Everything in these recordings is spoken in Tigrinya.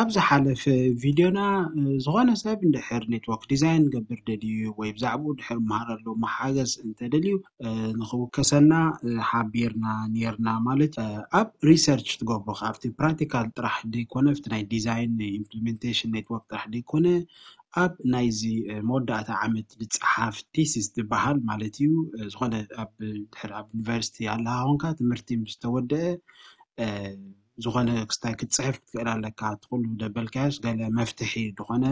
ኣብ ዝሓለፈ ቪድዮና ዝኾነ ሰብ እንድሕር ኔትወርክ ዲዛይን ገብር ደልዩ ወይ ብዛዕባኡ ድሕር መሃር ኣሎ መሓገዝ እንተደልዩ ንኽውከሰና ሓቢርና ነርና። ማለት ኣብ ሪሰርች ትገብሮ ኣብቲ ፕራክቲካል ጥራሕ ደይኮነ ኣብቲ ናይ ዲዛይን ኢምፕሊሜንቴሽን ኔትወርክ ጥራሕ ደይኮነ ኣብ ናይዚ መወዳእታ ዓመት ዝፀሓፍ ቲሲስ ዝበሃል ማለት እዩ። ዝኾነ ኣብ ድሕር ኣብ ዩኒቨርሲቲ ኣለካ ኮንካ ትምህርቲ ምስ ተወደአ ዝኾነ ክስታይ ክትፅሕፍ ክትክእል ኣለካ። ትኩሉ ደበልካዮስ ገለ መፍትሒ ዝኾነ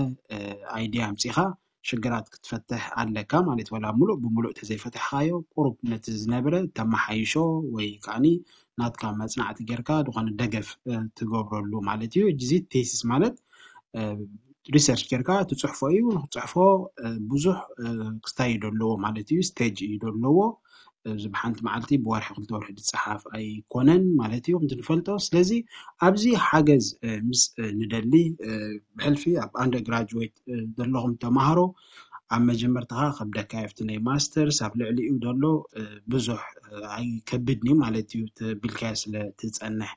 ኣይዲያ ኣምፂኻ ሽግራት ክትፈትሕ ኣለካ ማለት ወላ ሙሉእ ብሙሉእ ተዘይፈትሕካዮ ቁሩብ ነቲ ዝነብረ ተመሓይሾ ወይ ከዓኒ ናትካ መፅናዕቲ ጌርካ ዝኾነ ደገፍ ትገብረሉ ማለት እዩ። እዚ ቴሲስ ማለት ሪሰርች ጌርካ ትፅሕፎ እዩ። ንክትፅሕፎ ብዙሕ ክስታይ እዩ ደለዎ ማለት እዩ። ስቴጅ እዩ ደለዎ። እዚ ብሓንቲ መዓልቲ ብወርሒ ክልተ ወርሒ ዝፀሓፍ ኣይኮነን ማለት እዩ ከምቲ ንፈልጦ። ስለዚ ኣብዚ ሓገዝ ምስ ንደሊ ብሕልፊ ኣብ ኣንደር ግራጅዌት ዘለኹም ተማሃሮ ኣብ መጀመርታኻ ከብደካ ኣብቲ ናይ ማስተርስ ኣብ ልዕሊኡ ዘሎ ብዙሕ ኣይከብድን እዩ ማለት እዩ ተቢልካዮ ስለ ትፀንሕ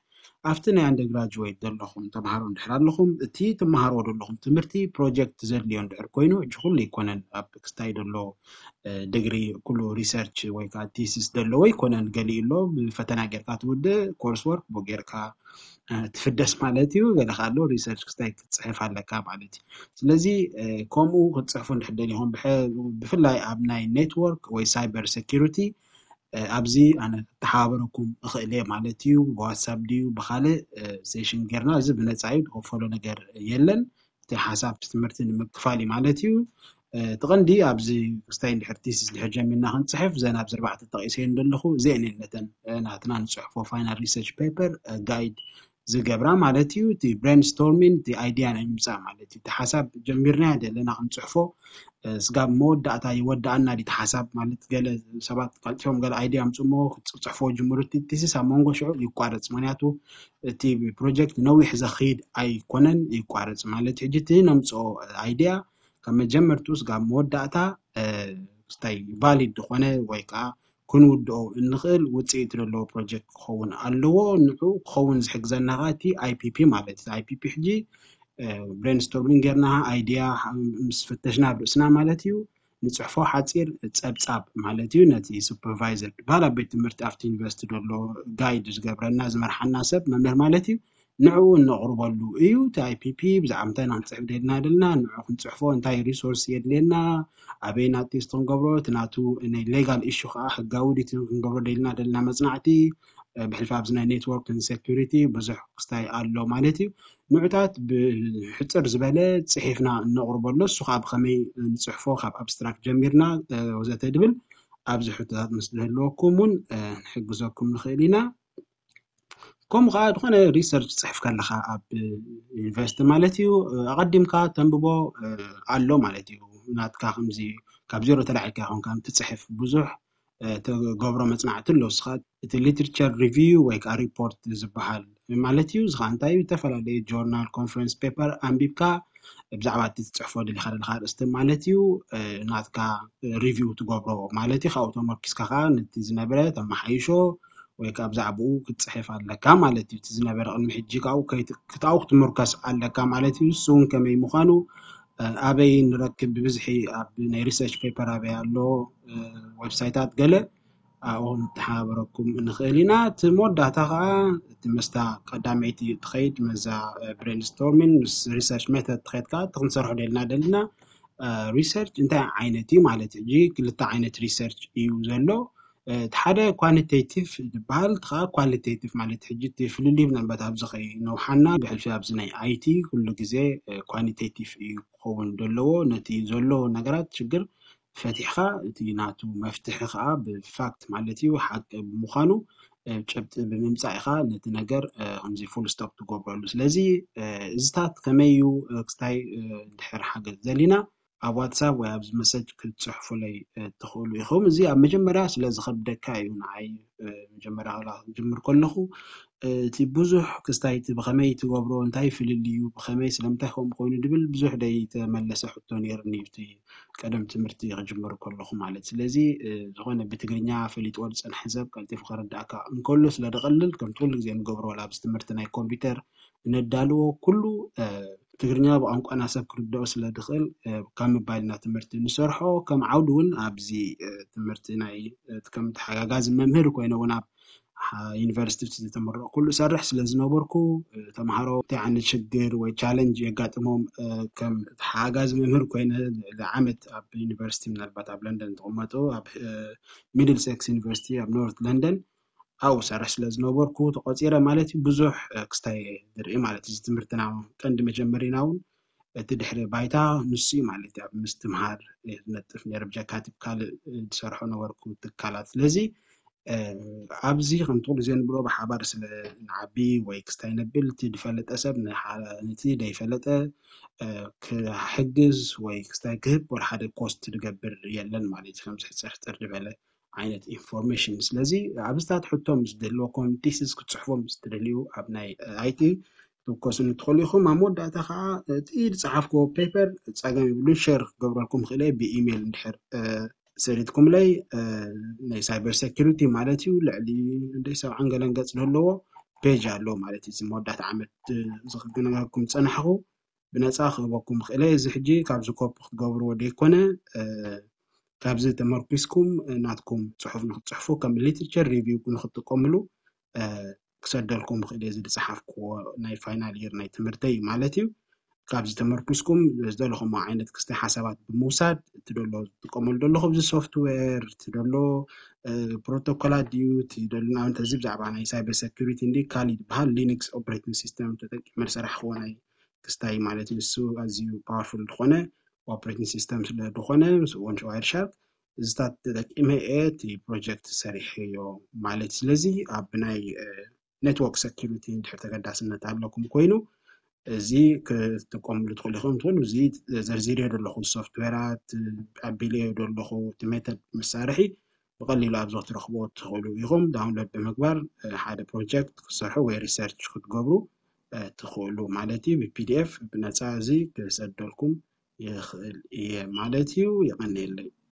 ኣብቲ ናይ ኣንደር ግራጅዌት ዘለኹም ተምሃሮ እንድሕር ኣለኹም እቲ ትመሃርዎ ዘለኹም ትምህርቲ ፕሮጀክት ዘድልዮ እንድሕር ኮይኑ እጂ ኩሉ ኣይኮነን ኣብ ክስታይ ዘሎ ድግሪ ኩሉ ሪሰርች ወይ ከዓ ቲሲስ ዘለዎ ኣይኮነን። ገሊኡ ኣሎ ብፈተና ጌርካ ትውድእ ኮርስ ወርክ ጌርካ ትፍደስ ማለት እዩ። ገለ ካሎ ሪሰርች ክስታይ ክትፅሕፍ ኣለካ ማለት እዩ። ስለዚ ከምኡ ክትፅሕፉ እንድሕር ደሊኹም ብፍላይ ኣብ ናይ ኔትወርክ ወይ ሳይበር ሴኪሪቲ ኣብዚ ኣነ ክተሓባበረኩም እኽእል እየ ማለት እዩ። ብዋትሳፕ ድዩ ብካልእ ሴሽን ጌርና እዚ ብነፃ እዩ ዝኸፈሎ ነገር የለን። እቲ ሓሳብ ትምህርቲ ንምክፋል እዩ ማለት እዩ። እቲ ቀንዲ ኣብዚ ክስታይ እንድሕር ቲሲስ ድሕር ጀሚርና ክንፅሕፍ ዘን ኣብዚ ኣርባዕተ ጠቂሰየን ዘለኹ እዚአን እየን ነተን ናትና ንፅሕፎ ፋይናል ሪሰርች ፔፐር ጋይድ ዝገብራ ማለት እዩ። እቲ ብሬንስቶርሚን እቲ ኣይዲያ ናይ ምምፃእ ማለት እዩ። እቲ ሓሳብ ጀሚርና ዘለና ክንፅሕፎ ስጋብ መወዳእታ ይወዳኣና ድቲ ሓሳብ ማለት ገለ ሰባት ቀልጢፎም ገለ ኣይዲያ ኣምፅሞ ክፅሕፎ ጅምሩ እቲ ቲሲስ ኣብ መንጎ ሽዑ ይቋረፅ። ምክንያቱ እቲ ፕሮጀክት ነዊሕ ዘኽይድ ኣይኮነን ይቋረፅ ማለት ሕጂ እቲ ነምፅኦ ኣይዲያ ካብ መጀመርቱ ስጋብ መወዳእታ ክስታይ ቫሊድ ዝኾነ ወይ ከዓ ክንውድኦ እንኽእል ውፅኢት ዘለዎ ፕሮጀክት ክኸውን ኣለዎ። ንዑ ክኸውን ዝሕግዘና ከዓ እቲ ኣይፒፒ ማለት እዩ። ኣይፒፒ ሕጂ ብሬንስቶርሚንግ ጌርና ኣይዲያ ምስ ፈተሽና ኣብ ርእስና ማለት እዩ ንፅሕፎ ሓፂር ፀብፃብ ማለት እዩ ነቲ ሱፐርቫይዘር ዝበሃል ኣብ ቤት ትምህርቲ ኣብቲ ዩኒቨርሲቲ ዘሎ ጋይድ ዝገብረና ዝመርሓና ሰብ መምህር ማለት እዩ ንዕኡ እነቕርበሉ እዩ። እቲ ኣይፒፒ ብዛዕባ እንታይ ኢና ክንፅሕፍ ደልና ደልና ንዑ ክንፅሕፎ እንታይ ሪሶርስ የድልየና ኣበይ ናቴስት ክንገብሮ እቲ ናቱ ናይ ሌጋል ኢሹ ከዓ ሕጋዊ ድቲ ክንገብሮ ደልና ደልና መፅናዕቲ ብሕልፊ ኣብዚ ናይ ኔትወርክ ሴኩሪቲ ብዙሕ ክስታይ ኣሎ ማለት እዩ። ንዑታት ብሕፅር ዝበለ ፅሒፍና እነቕርበሎ እሱ ከዓ ብከመይ ንፅሕፎ ካብ ኣብስትራክት ጀሚርና ወዘተ ድብል ኣብዚ ሕቶታት ምስ ዝህልወኩም እውን ንሕግዘኩም ንኽእል ኢና። ከምኡ ከዓ ዝኾነ ሪሰርች ፅሕፍ ከለካ ኣብ ዩኒቨርሲቲ ማለት እዩ ኣቐዲምካ ተንብቦ ኣሎ ማለት እዩ። ናትካ ከምዚ ካብ ዜሮ ተላዒልካ ይኮንካ ትፅሕፍ ብዙሕ ተገብሮ መፅናዕቲ ኣሎ ስኻ እቲ ሊትርቸር ሪቪው ወይ ከዓ ሪፖርት ዝበሃል ማለት እዩ። እዚ ከዓ እንታይ ዝተፈላለዩ ጆርናል ኮንፈረንስ ፔፐር ኣንቢብካ ብዛዕባ እቲ ትፅሕፎ ደሊካ ዘለካ ርእስቲ ማለት እዩ ናትካ ሪቪው ትገብሮ ማለት እዩ። ካብኡ ተመርኪስካ ከዓ ነቲ ዝነበረ ተመሓይሾ ወይ ከዓ ብዛዕባኡ ክትፅሕፍ ኣለካ ማለት እዩ። እቲ ዝነበረ ቅድሚ ሕጂ ካብኡ ክትኣው ክትምርከስ ኣለካ ማለት እዩ። እሱ እውን ከመይ ምዃኑ ኣበይ ንረክብ ብብዝሒ ኣብ ናይ ሪሰርች ፔፐር ኣበይ ኣሎ ዌብሳይታት ገለ ኣብኡ ንተሓባበረኩም ንኽእል ኢና። እቲ መወዳእታ ከዓ እቲ መስታ ቀዳመይቲ ትኸይድ መዛ ብሬንስቶርሚን ምስ ሪሰርች ሜተድ ትኸይድ ከዓ እቲ ክንሰርሖ ደልና ደልና ሪሰርች እንታይ ዓይነት እዩ ማለት ሕጂ ክልተ ዓይነት ሪሰርች እዩ ዘሎ። እቲ ሓደ ኳንቴቲቭ ዝበሃል እቲ ከዓ ኳሊቴቲቭ ማለት ሕጂ እቲ ፍልልይ ምናልባት ኣብዚ ከይነውሓና ብሕልፊ ኣብዚ ናይ ኣይቲ ኩሉ ግዜ ኳንቴቲቭ እዩ ክኸውን ዘለዎ ነቲ ዘሎ ነገራት ሽግር ፈቲሕካ እቲ ናቱ መፍትሒ ከዓ ብፋክት ማለት እዩ ሓቂ ብምዃኑ ጭብጢ ብምምፃእ ኢካ ነቲ ነገር ከምዚ ፉል ስቶፕ ትገብረሉ። ስለዚ እዚታት ከመይ እዩ ክስታይ ድሕር ሓገዝ ዘሊና ኣብ ዋትሳፕ ወይ ኣብዚ መሰጅ ክትፅሕፉለይ ትኽእሉ ኢኹም። እዚ ኣብ መጀመርያ ስለ ዝኸብደካ እዩ ንዓይ መጀመርያ ክላ ክጅምር ከለኹ እቲ ብዙሕ ክስታይ እቲ ብኸመይ ትገብሮ እንታይ ፍልልዩ ብኸመይ ስለምንታይ ከምኡ ኮይኑ ድብል ብዙሕ ደይተመለሰ ሕቶ ነይርኒ እቲ ቀደም ትምህርቲ ክጅምር ከለኹ ማለት ስለዚ ዝኾነ ብትግርኛ ፈሊጥዎ ዝፀንሐ ሰብ ቀልጢፉ ከረዳእካ እንከሎ ስለ ደቐልል ከምቲ ኩሉ ግዜ ንገብሮ ወላ ኣብዚ ትምህርቲ ናይ ኮምፒውተር ነዳልዎ ኩሉ ትግርኛ ብቋንቋና ሰብ ክርድኦ ስለ ድኽእል ካብ ምባልና ትምህርቲ ንሰርሖ። ከም ዓውዲ እውን ኣብዚ ትምህርቲ ናይ ከም ተሓጋጋዚ መምህር ኮይነ እውን ኣብ ዩኒቨርሲቲ ዝተመረቕኩሉ እሰርሕ ስለ ዝነበርኩ፣ ተምሃሮ እንታይ ዓይነት ሽግር ወይ ቻለንጅ የጋጥሞም ከም ተሓጋጋዚ መምህር ኮይነ ልዕሊ ዓመት ኣብ ዩኒቨርሲቲ፣ ምናልባት ኣብ ለንደን ዝቕመጡ ኣብ ሚድል ሴክስ ዩኒቨርሲቲ ኣብ ኖርት ለንደን ኣብኡ ሰርሕ ስለ ዝነበርኩ ተቆፂረ ማለት እዩ። ብዙሕ ክስታይ ዝርኢ ማለት እዚ ትምህርትና ቀንዲ መጀመሪና እውን እቲ ድሕሪ ባይታ ንሱ ማለት ኣብ ምስትምሃር ነጥፍ ነርብ ጀካቲብ ካልእ ዝሰርሖ ነበርኩ ትካላት። ስለዚ ኣብዚ ከምቲ ኩሉ ግዜ ንብሎ ብሓባር ስለ ንዓቢ ወይ ክስታይ ነብል እቲ ዝፈለጠ ሰብ ነቲ ዘይፈለጠ ክሕግዝ ወይ ክስታይ ክህብ ወላ ሓደ ኮስት ዝገብር የለን ማለት እዩ። ከምዚ ሕፅርሕፅር ዝበለ ዓይነት ኢንፎርሜሽን። ስለዚ ኣብዝታት ሕቶም ምስ ዝህልወኩም ቲስስ ክትፅሕፎም ምስ ትደልዩ ኣብ ናይ ኣይቲ ክትውከሱኒ ትኽእሉ ኢኹም። ኣብ መወዳእታ ከዓ እቲ ዝፀሓፍክዎ ፔፐር ፀገም ይብሉን ሸር ክገብረልኩም ክእለ ብኢሜይል እንድሕር ሰዲድኩምለይ ናይ ሳይበር ሴኪሪቲ ማለት እዩ ልዕሊ እንደ ሰብዓን ገለን ገፅ ዝህለዎ ፔጅ ኣሎ ማለት እዩ። እዚ መወዳእታ ዓመት ዝክገነጋኩም ዝፀናሕኹ ብነፃ ክህበኩም ክእለ። እዚ ሕጂ ካብዚ ኮፒ ክትገብርዎ ደይኮነ ካብዚ ተመርኪስኩም ናትኩም ፅሑፍ ንክትፅሕፉ ከም ሊትሬቸር ሪቪው ንክትጥቀምሉ ክሰደልኩም ክእል እዚ ዝፀሓፍክዎ ናይ ፋይናል ይር ናይ ትምህርተይ ማለት እዩ። ካብዚ ተመርኪስኩም ዝደለኹም ዓይነት ክስተ ሓሳባት ብምውሳድ እቲ ደሎ ዝጥቀመሉ ደለኹ እዚ ሶፍትዌር እቲ ደሎ ፕሮቶኮላት ድዩ እቲ ደሎ ንኣብነት እዚ ብዛዕባ ናይ ሳይበር ሴኩሪቲ እንዲ ካሊ ዝበሃል ሊኒክስ ኦፕሬቲንግ ሲስተም ተጠቂመ ዝሰራሕክዎ ናይ ክስታይ ማለት እዩ። ንሱ ኣዝዩ ፓወርፉል ዝኾነ ኦፕሬቲንግ ሲስተም ስለ ዝኾነ ምስ እውን ዋይር ሻርክ እዚታት ተጠቂመ እየ እቲ ፕሮጀክት ሰሪሐዮ ማለት። ስለዚ ኣብ ናይ ኔትወርክ ሴኩሪቲ እንድሕር ተገዳስነት ኣለኩም ኮይኑ እዚ ክትጥቀምሉ ትኽእሉ ኢኹም። ትኽእሉ እዚ ዘርዚርዮ ዘለኹ ሶፍትዌራት ኣቢልዮ ዘለኹ እቲ ሜተድ መሳርሒ ብቐሊሉ ኣብዚ ክትረኽብዎ ትኽእሉ ኢኹም። ዳውንሎድ ብምግባር ሓደ ፕሮጀክት ክትሰርሑ ወይ ሪሰርች ክትገብሩ ትኽእሉ ማለት እዩ። ብፒዲኤፍ ብነፃ እዚ ክሰደልኩም ይኽእል እየ ማለት እዩ። የቐንየለይ።